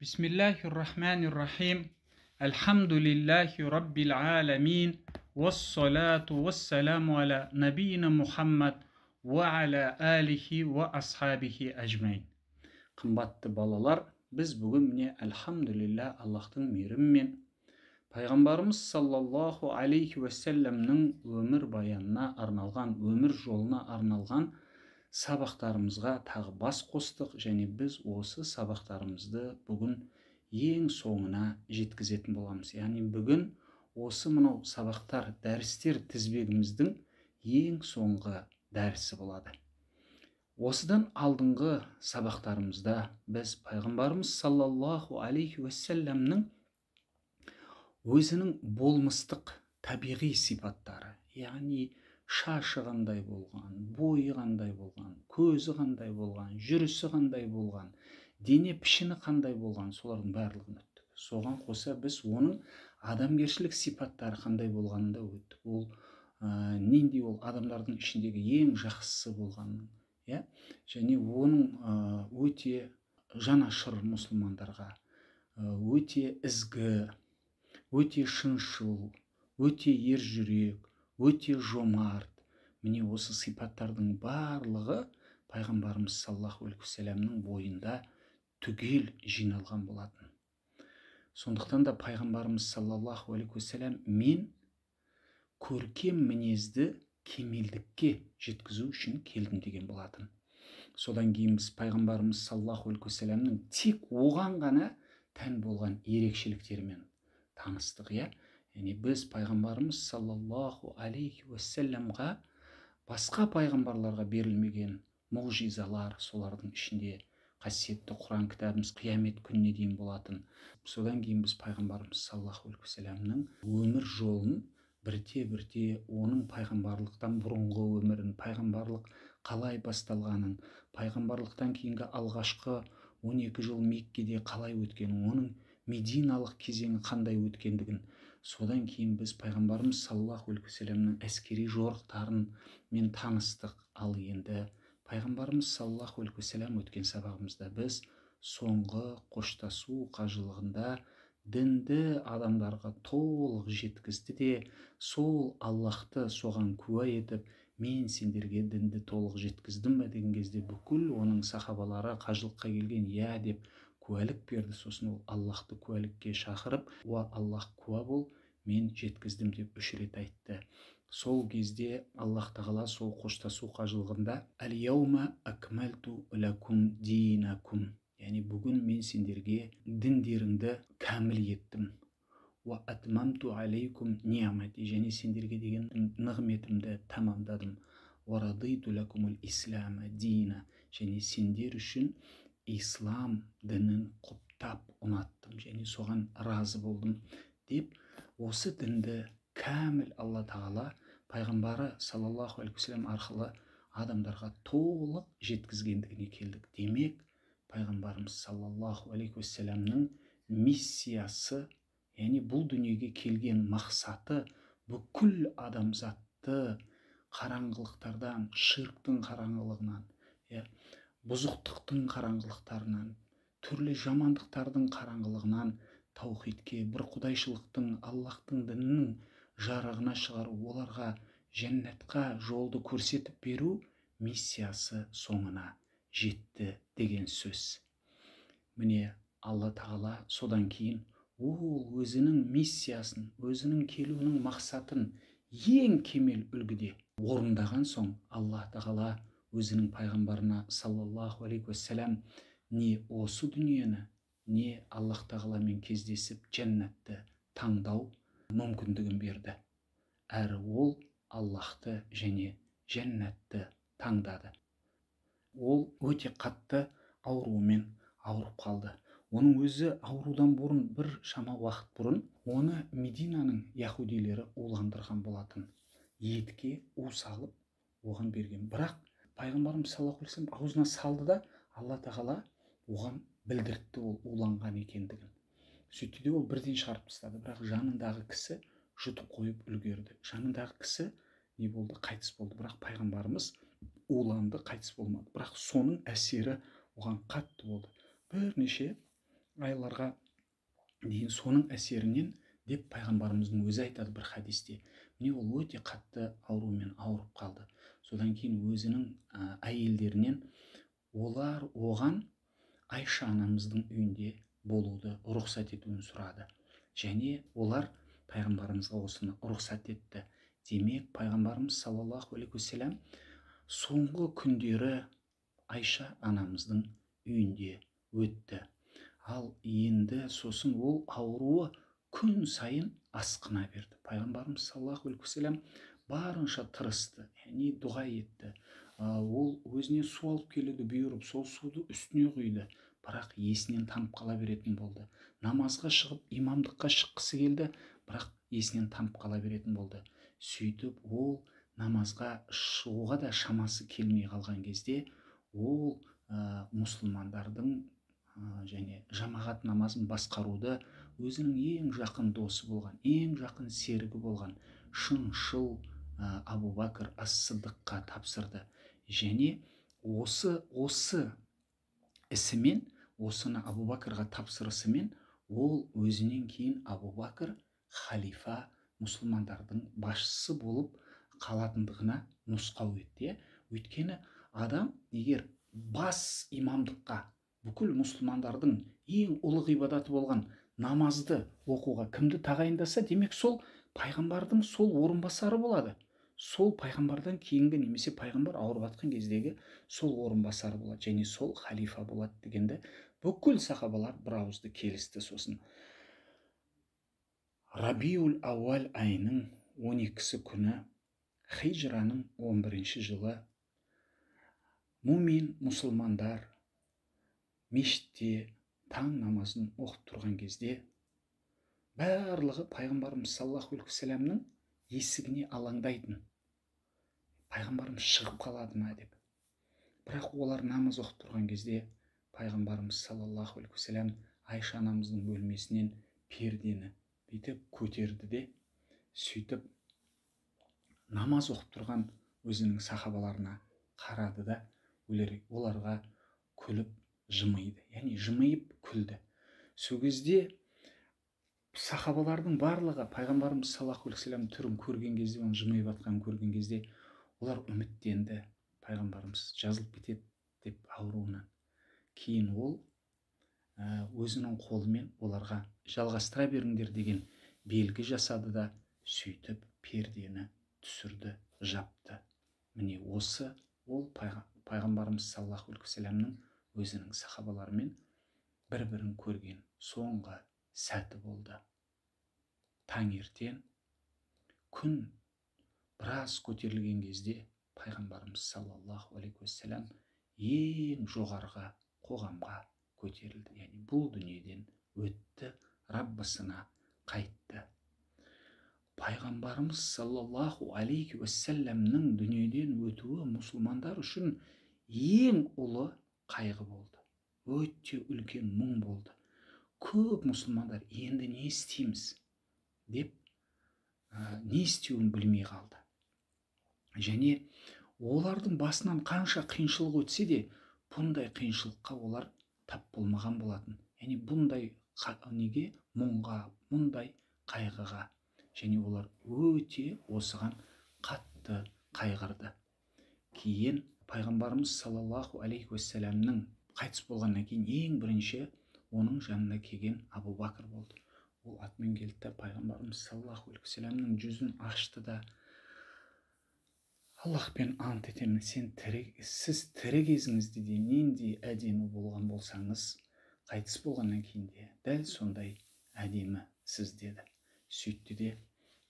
Бисмиллахир-рахманир-рахим. Альхамдулиллахи раббил аламин. Вассалату вассаламу аля набийна Мухаммад ва аля алихи ва асхабихи ажмайн. Қымбатты балалар, біз бүгін міне альхамдулилля Аллахтың мейірімімен пайғамбарымыз саллаллаху алейхи уассаламның өмір баянына арналған, өмір жолына арналған сабақтарымызға тағы бас қостық, және біз осы сабақтарымызды бүгін ең соңына жеткізетін боламыз. Яғни бүгін осы мынау сабақтар, дәрістер тізбегіміздің ең соңғы дәрісі болады. Осыдан алдыңғы сабақтарымызда біз пайғамбарымыз саллаллаху алейхи уассаламның өзінің болмыстық табиғи сипаттары, яғни шашы қандай болған, бойы қандай болған, көзі қандай болған, жүрісі қандай болған, дене пішіні қандай болған, солардың барлығын өттік. Соған қоса біз оның адамгершілік сипаттары қандай болғанын да өттік. Ол нендей, ол адамдардың ішіндегі ең жақсысы болғанын, және оның өте жанашыр мұсылмандарға, өте ізгі, өте шыншыл, өте ержүрек, өте жомарт. Міне осы сипаттардың барлығы пайғамбарымыз саллаллаху алейхи уассаламның бойында түгел жиналған болатын. Сондықтан да пайғамбарымыз саллаллаху алейхи уассалам мен көркем мінезді кемелдікке жеткізу үшін келдім деген болатын. Содан кейін біз пайғамбарымыз саллаллаху алейхи уассаламның тек оған ғана тән болған ерекшеліктерімен таныстық. Яғни біз пайғамбарымыз саллаллаху алейхи уассаламға басқа пайғамбарларға берілмеген мұғжизалар, солардың ішінде қасиетті Құран кітабымыз қиямет күніне дейін болатын. Содан кейін біз пайғамбарымыз саллаллаху алейхи уассаламның өмір жолын бірте-бірте оның пайғамбарлықтан бұрынғы өмірін, пайғамбарлық қалай басталғанын, пайғамбарлықтан кейінгі алғашқы 12 жыл Меккеде қалай өткенін, оның мединалық кезеңі қандай өткендігін, содан кейін біз пайғамбарымыз саллаллаху алейхи уассаламның әскери жорықтарын мен таныстық. Ал енді пайғамбарымыз саллаллаху алейхи уассалам өткен сабағымызда біз соңғы қоштасу қажылығында дінді адамдарға толық жеткізді де, сол Аллахты соған куә етіп, мен сендерге дінді толық жеткіздім бе деген кезде бүкіл оның сахабалары қажылыққа келген деп куәлік берді. Сосын ол Аллахты куәлікке шақырып, уа Аллах, куә бол, мен жеткіздім деп 3 рет айтты. Сол кезде Аллах тағала сол қоштасу қажылығында әл-яума акмалту лакум динакум, яғни бүгін мен сендерге діндеріңді кәміл еттім. Уа атмамту алейкум ниамати, және сендерге деген нығметімді тамамдадым. Уа радиту лакумул ислама дина, және сендер үшін ислам дінін құптап ұнаттым, және соған разы болдым деп, осы дінді кәміл Алла тағала пайғамбары саллаллаху алейхи уассалам арқылы адамдарға толық жеткізгендігіне келдік. Демек, пайғамбарымыз саллаллаху алейхи уассаламның миссиясы, яғни бұл дүниеге келген мақсаты бүкіл адамзатты қараңғылықтардан, ширктің қараңғылығынан, бұзықтықтың қараңғылықтарынан, түрлі жамандықтардың қараңғылығынан таухидке, бір құдайшылықтың, Аллахтың дінінің жарығына шығару, оларға жәннатқа жолды көрсетіп беру миссиясы соңына жетті деген сөз. Міне Алла тағала содан кейін ол өзінің миссиясын, өзінің келуінің мақсатын ең кемел үлгіде орындаған соң, Алла тағала өзінің пайғамбарына саллаллаху алейхи уассалам не осы дүниені, не Аллах тағаламен кездесіп жәннатты таңдау мүмкіндігін берді. Әрі ол Аллахты және жәннатты таңдады. Ол өте қатты аурумен ауырып қалды. Оның өзі аурудан бұрын, бір шама уақыт бұрын, оны Мединаның яһудилері уландырған болатын. Етке у салып оған берген. Бірақ пайғамбарымыз саллаллаху алейхи уассалам аузына салды да, Алла тағала оған білдіртті ол уланған екендігін. Сөйтті де ол бірден шығарып тастады. Бірақ жанындағы кісі жұтып қойып үлгерді. Жанындағы кісі не болды? Қайтыс болды. Бірақ пайғамбарымыз уланды, қайтыс болмады. Бірақ соның әсері оған қатты болды. Бірнеше айларға дейін соның әсерінен деп пайғамбарымыздың өзі айтады бір хадисте. Міне ол өте қатты аурумен ауырып қалды. Содан кейін өзінің әйелдерінен олар оған Айша анамыздың үйінде болуды рұқсат етуін сұрады. Және олар пайғамбарымызға осыны рұқсат етті. Демек, пайғамбарымыз саллаллаху алейхи уассалам соңғы күндері Айша анамыздың үйінде өтті. Ал енді сосын ол ауруы күн сайын асқына берді. Пайғамбарымыз саллаллаху алейхи уассалам барынша тырысты, яғни дұға етті. Ол өзіне су алып келуді бұйырып, сол суды үстіне құйды, бірақ есінен танып қала беретін болды. Намазға шығып, имамдыққа шыққысы келді, бірақ есінен танып қала беретін болды. Сөйтіп ол намазға шығуға да шамасы келмей қалған кезде ол мұсылмандардың және жамағат намазын басқаруды өзінің ең жақын досы болған, ең жақын серігі болған шыншыл Абу Бәкір ас-Сыдыққа тапсырды. Және осы ісімен, осыны Абу Бәкірға тапсырысымен ол өзінен кейін Абу Бәкір халифа, мұсылмандардың басшысы болып қалатындығына нұсқау етті. Өйткені адам егер бас имамдыққа, бүкіл мұсылмандардың ең ұлы ғибадаты болған намазды оқуға кімді тағайындаса, демек сол пайғамбардың сол орынбасары болады. Сол пайғамбардан кейінгі, немесе пайғамбар ауырып жатқан кездегі сол орынбасары болады, және сол халифа болады дегенді бүкіл сахабалар бір ауызды келісті. Сосын Рабиул Ауал айының 12-сі күні, хижраның 11-ші жылы, мумин мұсылмандар мешітте таң намазын оқып тұрған кезде барлығы пайғамбарымыз саллаллаху алейхи уассаламның есігіне алаңдайтын. Пайғамбарымыз шығып қалады ма деп. Бірақ олар намаз оқып тұрған кезде пайғамбарымыз саллаллаху алейхи уассалам Айша анамыздың бөлмесінен пердені бүйтіп көтерді де, сөйтіп намаз оқып тұрған өзінің сахабаларына қарады да, оларға күліп жымиды, яғни жымиып күлді. Сол кезде сахабалардың барлығы пайғамбарымыз саллаллаху алейхи уассалам түрін көрген кезде, оның жымиып жатқанын көрген кезде олар үміттенді, пайғамбарымыз жазылып кетеді деп ауруынан. Кейін ол өзінің қолымен оларға жалғастыра беріңдер деген белгі жасады да, сөйтіп пердені түсірді, жапты. Міне осы ол пайғамбарымыз саллаллаху алейхи уассаламның өзінің сахабаларымен бір-бірін көрген соңғы сәті болды. Таңертең күн біраз көтерілген кезде пайғамбарымыз саллаллаху алейхи уассалам ең жоғарғы қоғамға көтерілді. Яғни бұл дүниеден өтті, Раббысына қайтты. Пайғамбарымыз саллаллаху алейхи уассаламның дүниеден өтуі мұсылмандар үшін ең ұлы қайғы болды. Өте үлкен мұң болды. Көп мұсылмандар енді не істейміз деп не істеуін білмей қалды. Және олардың басынан қанша қиыншылық өтсе де, бұндай қиыншылыққа олар тап болмаған болатын. Яғни бұндай неге, мұңға, бұндай қайғыға. Және олар өте осыған қатты қайғырды. Кейін пайғамбарымыз саллаллаху алейхи уассаламның қайтыс болғаннан кейін ең бірінші оның жанына келген Абу Бәкір болды. Ол атымен келді, пайғамбарымыз саллаллаху алейхи уассаламның жүзін ашты да, Аллахпен ант етемін, сіз тірі кезіңізде де нендей әдемі болған болсаңыз, қайтыс болғаннан кейін де дәл сондай әдемі сіз деді. Сөйтті де,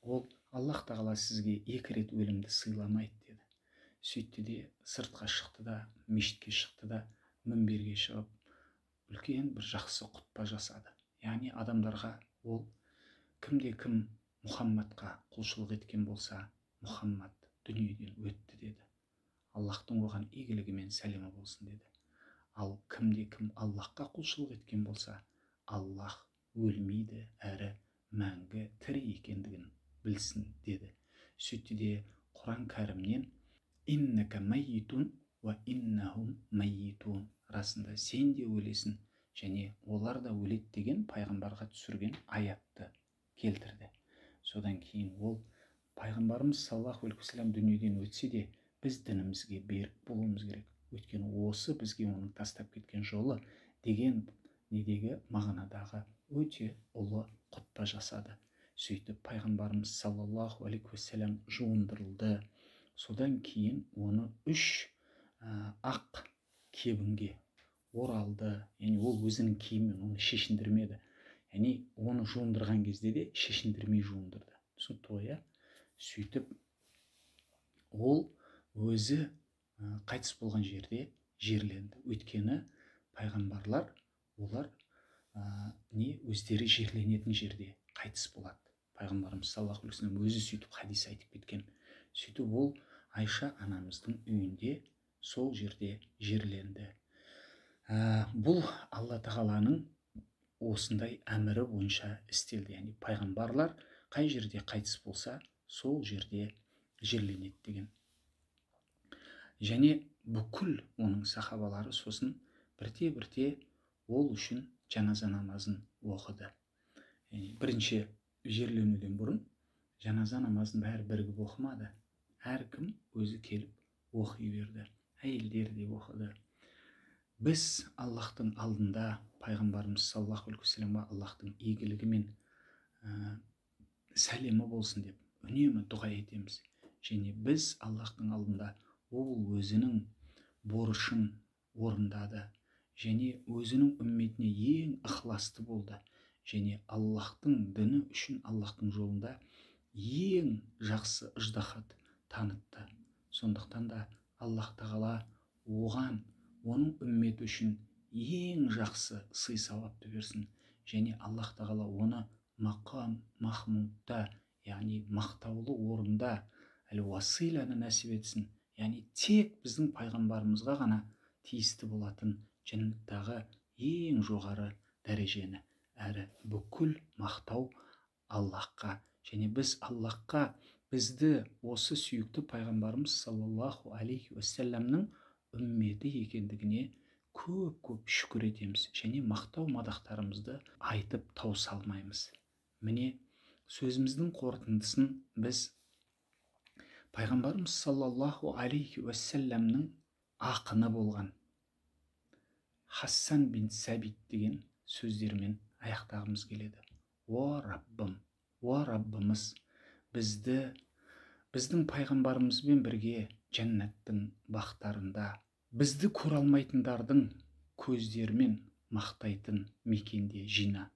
ол Аллах тағала сізге 2 рет өлімді сыйламайды деді. Сөйтті де сыртқа шықты да, мешітке шықты да, мінберге шығып, үлкен бір жақсы құтпа жасады. Яғни адамдарға ол кімде-кім Мұхаммадқа құлшылық еткен болса, Мұхаммад дүниеден өтті деді. Аллахтың оған игілігімен сәлемі болсын деді. Ал кімде-кім Аллахқа құлшылық еткен болса, Аллах өлмейді әрі мәңгі тірі екендігін білсін деді. Сөйтті де Құран кәрімнен иннака майитун ва иннахум майитун, расында сен де өлесің және олар да өледі деген пайғамбарға түсірген аятты келтірді. Содан кейін ол пайғамбарымыз саллаллаху алейхи уассалам дүниеден өтсе де біз дінімізге берік болуымыз керек. Өйткені осы бізге оның тастап кеткен жолы деген недегі мағынадағы өте ұлы құтпа жасады. Сөйтіп пайғамбарымыз саллаллаху алейхи уассалам жуындырылды. Содан кейін оны 3 ақ кебінге оралды. Яғни ол өзінің киімімен оны шешіндірмеді. Яғни оны жуындырған кезде де шешіндірмей жуындырды. Түсінікті ғой, иә? Сөйтіп ол өзі қайтыс болған жерде жерленді. Өйткені пайғамбарлар олар өздері жерленетін жерде қайтыс болады. Пайғамбарымыз саллаллаху алейхи вассалам өзі сөйтіп хадис айтып кеткен. Сөйтіп ол Айша анамыздың үйінде сол жерде жерленді. Бұл Алла тағаланың осындай әмірі бойынша істелді. Яғни пайғамбарлар қай жерде қайтыс болса, сол жерде жерленеді деген. Және бүкіл оның сахабалары сосын бірте-бірте ол үшін жаназа намазын оқыды. Бірінші жерленуден бұрын жаназа намазын бәрі бірігіп оқымады. Әркім өзі келіп оқи берді. Әйелдер де оқыды. Біз Аллахтың алдында пайғамбарымыз саллаллаху алейхи уассаламға Аллахтың игілігі мен сәлемі болсын деп үнемі дұға етеміз. Және біз Аллахтың алдында ол өзінің борышын орындады. Және өзінің үмметіне ең ықыласты болды. Және Аллахтың діні үшін Аллахтың жолында ең жақсы ыждахат танытты. Сондықтан да Аллах тағала оған, оның үмметі үшін ең жақсы сый сауапты берсін. Және Аллах тағала оны мақам махмудта, яғни мақтаулы орында әл-уасиланы нәсіп етсін. Яғни тек біздің пайғамбарымызға ғана тиісті болатын жәннаттағы ең жоғары дәрежені, әрі бүкіл мақтау Аллахқа. Және біз Аллахқа бізді осы сүйікті пайғамбарымыз саллаллаху алейхи уассаламның үмметі екендігіне көп шүкір етеміз. Және мақтау мадақтарымызды айтып таусалмаймыз. Міне сөзіміздің қорытындысын біз пайғамбарымыз саллаллаху алейхи уассаламның ақыны болған Хассан бин Сәбит деген сөздермен аяқтағымыз келеді. О Раббым, о Раббымыз, біздің пайғамбарымызбен бірге жәннаттың бақтарында, бізді көре алмайтындардың көздерімен мақтайтын мекенде жина.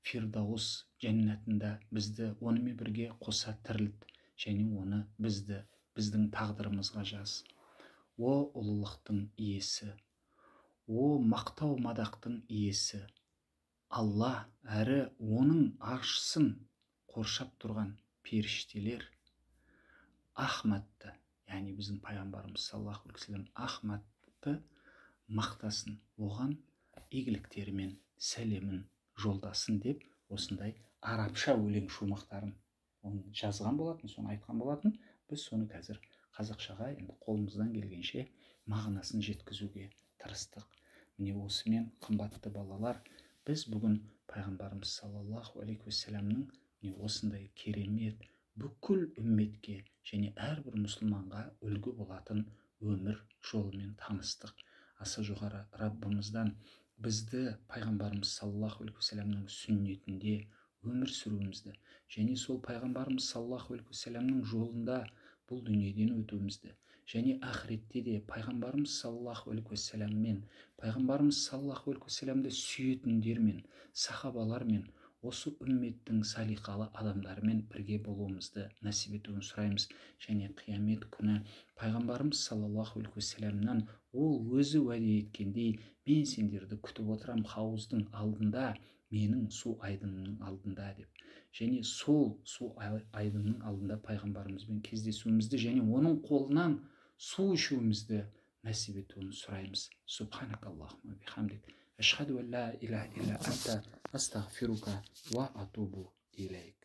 Фирдаус жәннатында бізді онымен бірге қоса тірілт, және оны біздің тағдырымызға жаз. О ұлылықтың иесі, о мақтау мадақтың иесі, Алла әрі оның аршысын қоршап тұрған періштелер Ахмадты, яғни біздің пайғамбарымыз саллаллаху алейхи вассалам Ахмадты мақтасын, оған игіліктерімен сәлемін жолдасын деп осындай арабша өлең шумақтарын жазған болатын, соны айтқан болатын. Біз соны қазір қазақшаға енді қолымыздан келгенше мағынасын жеткізуге тырыстық. Міне осымен қымбатты балалар, біз бүгін пайғамбарымыз саллаллаху алейхи уассаламның осындай керемет бүкіл үмметке және әрбір мұсылманға үлгі болатын өмір жолымен таныстық. Аса жоғары Раббымыздан бізді пайғамбарымыз саллаллаху алейхи уассаламның сүннетінде өмір сүруімізді және сол пайғамбарымыз саллаллаху алейхи уассаламның жолында бұл дүниеден өтуімізді және ақыретте де пайғамбарымыз саллаллаху алейхи уассаламмен, пайғамбарымыз саллаллаху алейхи уассаламды сүйетіндермен, сахабалармен, осы үмметтің салиқалы адамдарымен бірге болуымызды нәсіп етуін сұраймыз. Және қиямет күні пайғамбарымыз саллаллаху алейхи уассаламнан ол өзі уәде еткендей, мен сендерді күтіп отырам хауыздың алдында, менің су айдынымның алдында деп. Және сол су айдынның алдында пайғамбарымызбен кездесуімізді және оның қолынан су ішуімізді нәсіп етуін сұраймыз. Субханакаллахумма бихамдик, ашхаду ан ла иляха илля анта, астағфирука ва атубу илейк.